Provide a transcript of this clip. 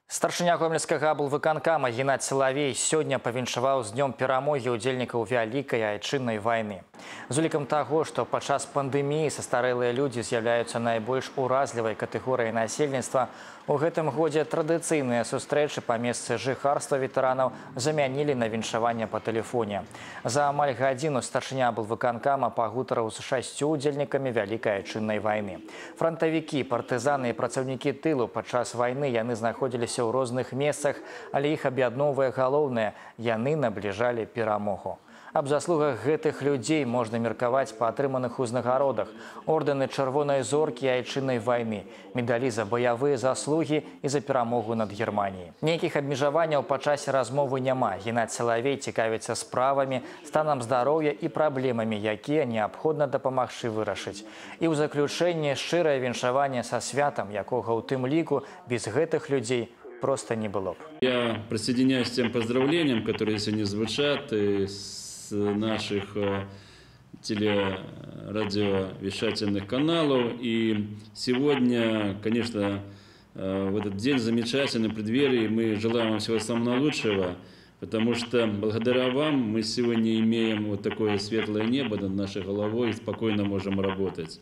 Старшыня гомельскага аблвыканкама Геннадзь Салавей сёння павіншаваў з днём перамогі ўдзельнікаў вялікай айчыннай вайны. З улікам таго, што падчас пандэміі састарэлыя людзі з'яўляюцца найбольш уразлівай катэгорыяй насельніцтва, у гэтым годзе традыцыйныя сустрэчы па месцы жыхарства ветэранаў замянілі на віншаванне па тэлефоне. За амаль гадзіну старшыня аблвыканкама пагутарыў з 6 удзельнікамі вялікай айчыннай вайны. Франтавікі, партызаны і працаўнікі тылу падчас вайны яны знаходзіліся ў розных месцах, але іх аб'ядноўвае галоўнае – яны набліжалі перамогу. Аб заслугах гэтых людзей можна меркаваць па атрыманых узнагародах: ордэны чырвонай зоркі і айчыннай вайны, медалі за баявыя заслугі і за перамогу над Германіяй. Нейкіх абмежаванняў па часе размовы няма. Геннадзь Салавей цікавіцца справамі, станам здароўя і праблемамі, якія неабходна дапамагчы вырашыць. І ў заключэнне шчырае віншаванне са святам, якога ў тым ліку без гэтых людзей просто не было б. Я присоединяюсь к тем поздравлениям, которые сегодня звучат из наших телерадиовещательных каналов. И сегодня, конечно, в этот день замечательный преддверии мы желаем вам всего самого наилучшего, потому что благодаря вам мы сегодня имеем вот такое светлое небо над нашей головой и спокойно можем работать.